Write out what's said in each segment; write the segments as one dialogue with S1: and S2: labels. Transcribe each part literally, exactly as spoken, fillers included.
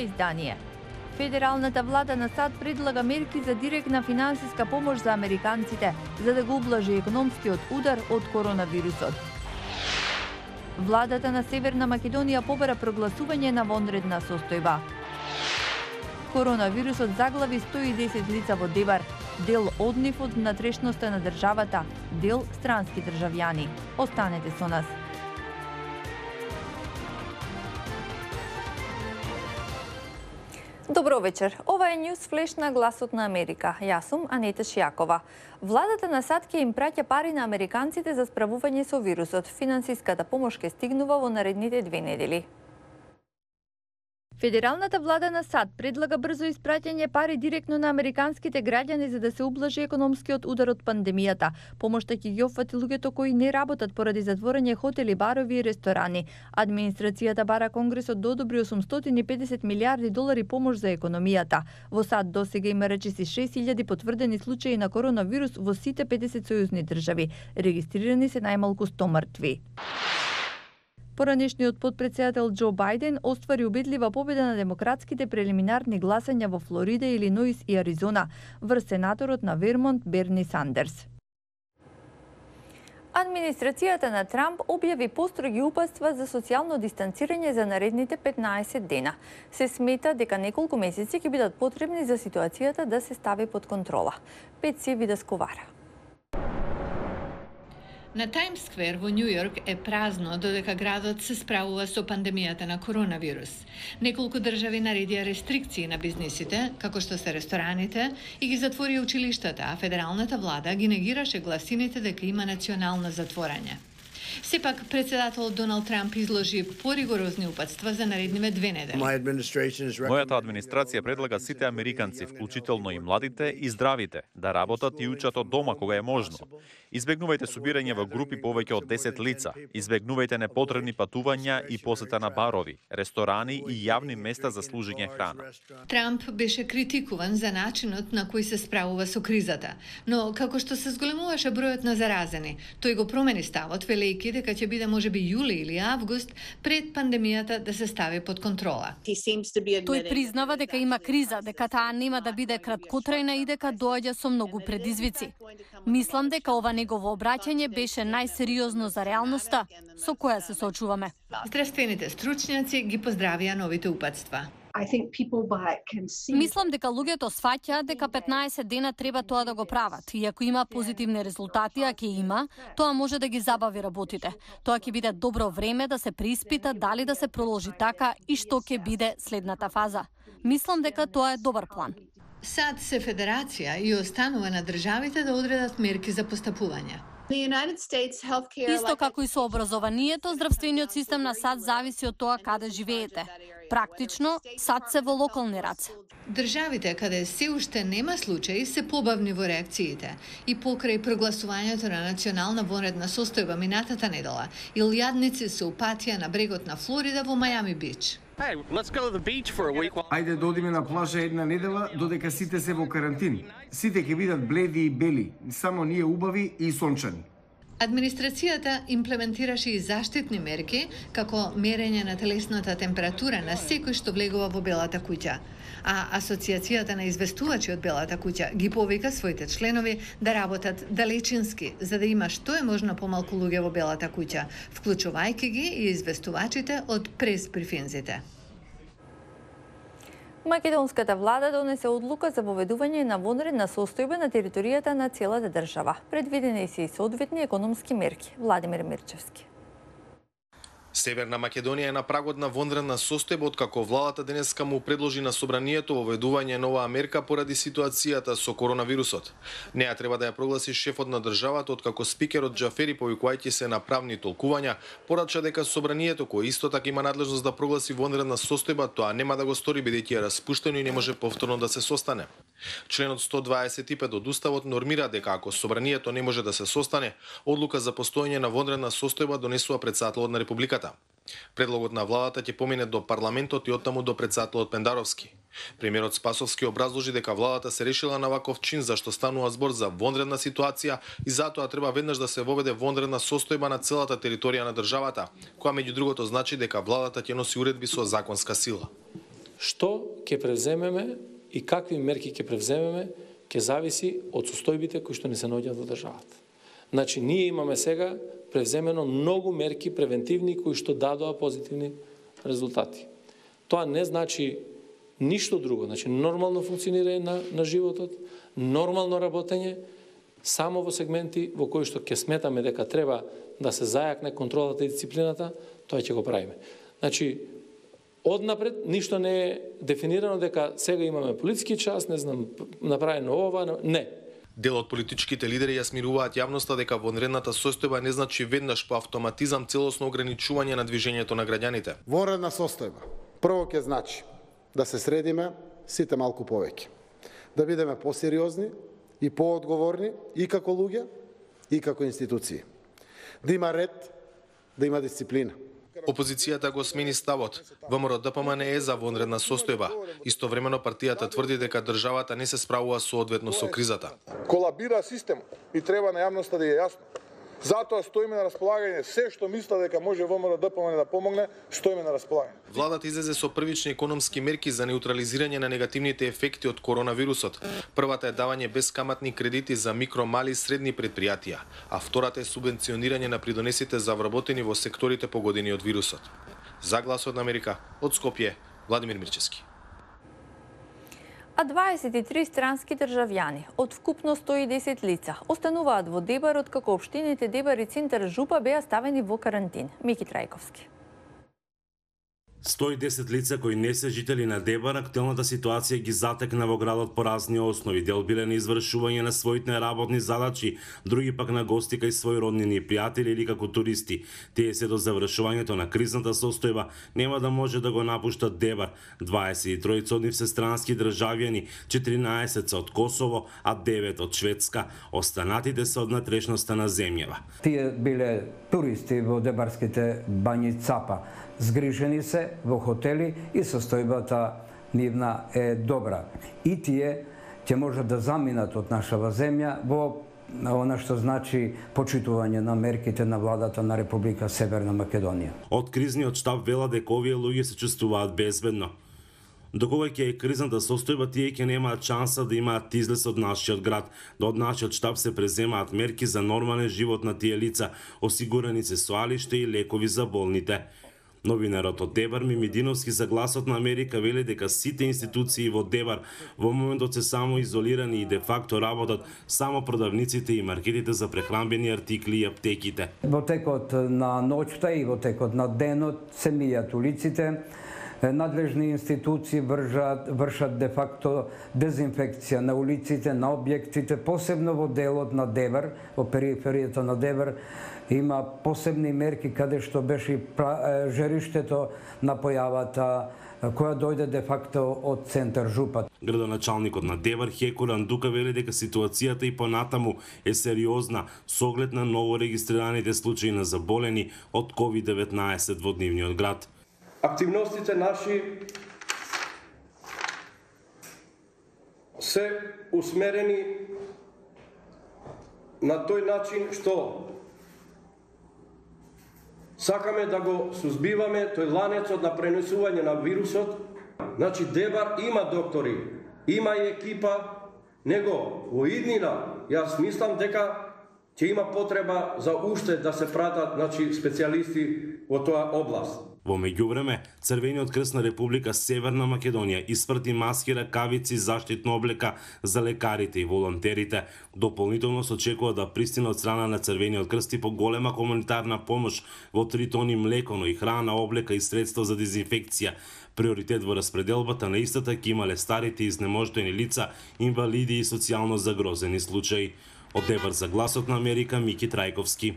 S1: издание. Федералната влада на САД предлага мерки за директна финансиска помош за американците, за да го ублажи економскиот удар од коронавирусот. Владата на Северна Македонија побара прогласување на вонредна состојба. Коронавирусот заглави сто и десет лица во Дебар, дел од нив од внатрешноста на државата, дел странски државјани. Останете со нас. Добро вечер. Ова е News Flash на Гласот на Америка. Јас сум Анета Шијакова. Владата на САД ќе им праќа пари на американците за справување со вирусот. Финансиската помош ќе стигнува во наредните две недели. Федералната влада на САД предлага брзо испраќање пари директно на американските граѓани за да се ублажи економскиот удар од пандемијата. Помошта ќе ги опфати луѓето кои не работат поради затворање хотели, барови и ресторани. Администрацијата бара Конгресот да одобри осумстотини и педесет милиарди долари помош за економијата. Во САД досега има речиси шест илјади потврдени случаи на коронавирус во сите педесет сојузни држави. Регистрирани се најмалку сто мртви. Поранешниот потпредседател Џо Бајден оствари убедлива победа на демократските прелиминарни гласања во Флорида, Илиноис и Аризона врз сенаторот на Вермонт Берни Сандерс. Администрацијата на Трамп објави построги упатства за социјално дистанцирање за наредните петнаесет дена. Се смета дека неколку месеци ќе бидат потребни за ситуацијата да се стави под контрола. Петси Видасковара.
S2: На Таймс Сквер во Њу Јорк е празно додека градот се справува со пандемијата на коронавирус. Неколку држави наредија рестрикции на бизнисите, како што се рестораните, и ги затвори училиштата, а федералната влада ги негираше гласините дека има национално затворање. Сепак, председател Доналд Трамп изложи поригорозни упатства за наредниве две недели.
S3: Мојата администрација предлага сите американци, вклучително и младите и здравите, да работат и учат од дома кога е можно. Избегнувајте собирање во групи повеќе од десет лица, избегнувајте непотребни патувања и посета на барови, ресторани и јавни места за служење храна.
S2: Трамп беше критикуван за начинот на кој се справува со кризата, но како што се зголемуваше бројот на заразени, тој го промени ставот, велејќи дека ќе биде можеби јули или август пред пандемијата да се стави под контрола.
S4: Тој признава дека има криза, дека таа нема да биде краткотрајна и дека доаѓа со многу предизвици. Мислам дека ова негово обраќање беше најсериозно за реалноста со која се соочуваме.
S2: Здравствените стручњаци ги поздравија новите упатства.
S4: Мислам дека луѓето сфаќаат дека петнаесет дена треба тоа да го прават и ако има позитивни резултати, а ќе има, тоа може да ги забави работите. Тоа ќе биде добро време да се преиспита дали да се продолжи така и што ќе биде следната фаза. Мислам дека тоа е добар план.
S2: САД се федерација и останува на државите да одредат мерки за постапување.
S4: Исто како и со образованието, здравствениот систем на САД зависи од тоа каде живеете. Практично, САД се во локални раце.
S2: Државите каде се уште нема случаи се побавни во реакциите и покрај прогласувањето на национална вонредна состојба минатата недела, илјадници се упатија на брегот на Флорида во Мајами Бич.
S5: Hey, let's go to the beach for a week.
S6: Ајде да одиме на плажа една недела додека сите се во карантин. Сите ќе бидат бледи и бели, само ние убави и сончани.
S2: Администрацијата имплементираше и заштитни мерки, како мерење на телесната температура на секој што влегува во Белата куќа. А Асоциацијата на известувачи од Белата куќа ги повика своите членови да работат далечински, за да има што е можно помалку луѓе во Белата куќа, вклучувајќи ги и известувачите од прес-брифинзите.
S1: Македонската влада донесе одлука за воведување на вонредна состојба на територијата на целата држава. Предвидени се и соодветни економски мерки. Владимир Мирчевски.
S7: Северна Македонија е на прагот на вонредна состојба откако владата денеска му предложи на собранието воведување нова мерка поради ситуацијата со коронавирусот. Неа треба да ја прогласи шефот на државата откако спикерот Џафери, повикувајќи се на правни толкувања, порача дека собранието кој исто така има надлежност да прогласи вонредна состојба, тоа нема да го стори бидејќи е распуштено и не може повторно да се состане. Членот сто дваесет и пет од Уставот нормира дека ако собранието не може да се состане, одлука за постоење на вонредна состојба донесува претседателот на Републиката. Предлогот на владата ќе помине до парламентот и оттаму до претседателот Пендаровски. Премиерот Спасовски образложи дека владата се решила на ваков чин зашто станува збор за вонредна ситуација и затоа треба веднаш да се воведе вонредна состојба на целата територија на државата, која меѓу другото значи дека владата ќе носи уредби со законска сила.
S8: Што ќе превземеме и какви мерки ќе превземеме ќе зависи од состојбите кои што не се наоѓаат во државата. Значи, ние имаме сега превземено многу мерки превентивни кои што дадоа позитивни резултати. Тоа не значи ништо друго, значи нормално функционирање на, на животот, нормално работење, само во сегменти во кои што ќе сметаме дека треба да се зајакне контролата и дисциплината, тоа ќе го правиме. Значи, однапред ништо не е дефинирано дека сега имаме полициски час, не знам, направено ова, не.
S7: Дел од политичките лидери ја смируваат јавноста дека вонредната состојба не значи веднаш по автоматизам целосно ограничување на движењето на граѓаните.
S9: Вонредна состојба прво ќе значи да се средиме сите малку повеќе, да бидеме посериозни и поодговорни и како луѓе и како институции. Да има ред, да има дисциплина.
S7: Опозицијата го смени ставот. ВМРО-ДПМН е за вонредна состојба. Истовремено партијата тврди дека државата не се справува соодветно со кризата.
S10: Колабира систем и треба на јавноста да е јасно. Затоа стоиме на располагање, се што мисла дека може ВМРО-ДПМН да помогне, стоиме на располагање.
S7: Владата излезе со првични економски мерки за неутрализирање на негативните ефекти од коронавирусот. Првата е давање бескаматни кредити за микро, мали и средни предпријатија, а втората е субвенционирање на придонесите за вработени во секторите погодени од вирусот. За Гласот на Америка, од Скопје, Владимир Мирчевски.
S1: А дваесет и три странски државјани од вкупно сто и десет лица остануваат во Дебар, откако општините Дебар и Цинтар Жупа беа ставени во карантин. Мики Трајковски.
S11: сто и десет лица кои не се жители на Дебар, актуелната ситуација ги затекна во градот по разни основи. Дел биле на извршување на своите работни задачи, други пак на гости кај своји роднини и пријатели или како туристи. Тие се до завршувањето на кризната состојба нема да може да го напуштат Дебар. дваесет и тројца од нив се странски државјани, четиринаесет се од Косово, а девет од Шведска. Останатите се од натрешноста на земјава.
S12: Тие биле туристи во дебарските бањи Цапа. Згрижени се во хотели и состојбата нивна е добра. И тие ќе можат да заминат од нашава земја во она што значи почитување на мерките на владата на Република Северна Македонија.
S11: Од кризниот штаб вела дека овие луѓе се чувствуваат безбедно. Докога ќе е кризната состојба, тие ќе немаат шанса да имаат излез од нашиот град. Да од нашиот штаб се преземаат мерки за нормален живот на тие лица, осигурани се соалиште и лекови за болните. Новинарот од Дебар Мимидиновски за Гласот на Америка вели дека сите институции во Дебар во моментот се само изолирани и де факто работат само продавниците и маркетите за прехранбени артикли и аптеките.
S12: Во текот на ноќта и во текот на денот се мијат улиците, надлежни институции вршат, вршат де факто дезинфекција на улиците, на објектите, посебно во делот на Дебар, во периферијата на Дебар, има посебни мерки каде што беше жериштето на појавата која дојде де факто од Центар Жупа.
S11: Градоначалникот на Дебар Хеко Рандука вели дека ситуацијата и понатаму е сериозна со оглед на ново регистрираните случаи на заболени од ковид деветнаесет во нивниот град.
S13: Активностите наши се усмерени на тој начин што сакаме да го сузбиваме тој ланецот на пренесување на вирусот. Значи Дебар има доктори, има и екипа, него во иднина јас мислам дека ќе има потреба за уште да се пратат, значи, специјалисти во тоа област.
S11: Во меѓувреме, Црвениот крст на Република Северна Македонија испрати маски, ракавици, заштитна облека за лекарите и волонтерите. Дополнително се очекува да пристигне од страна на Црвениот крст и поголема хуманитарна помош во три тони млеко, но и храна, облека и средства за дезинфекција. Приоритет во распределбата на истата ќе имале старите и изнемождени лица, инвалиди и социјално загрозени случаи. Од Дебар за Гласот на Америка, Мики Трајковски.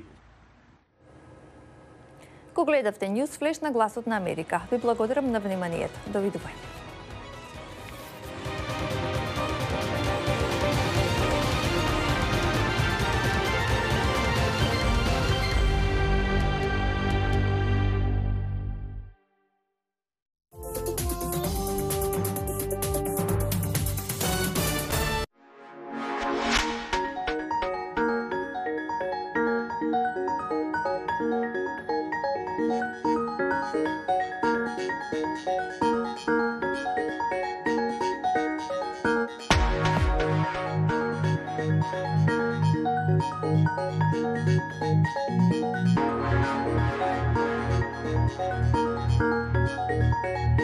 S1: Ко гледавте News Flash на Гласот на Америка. Ви благодарам на вниманието. Довидување.
S14: Thank you.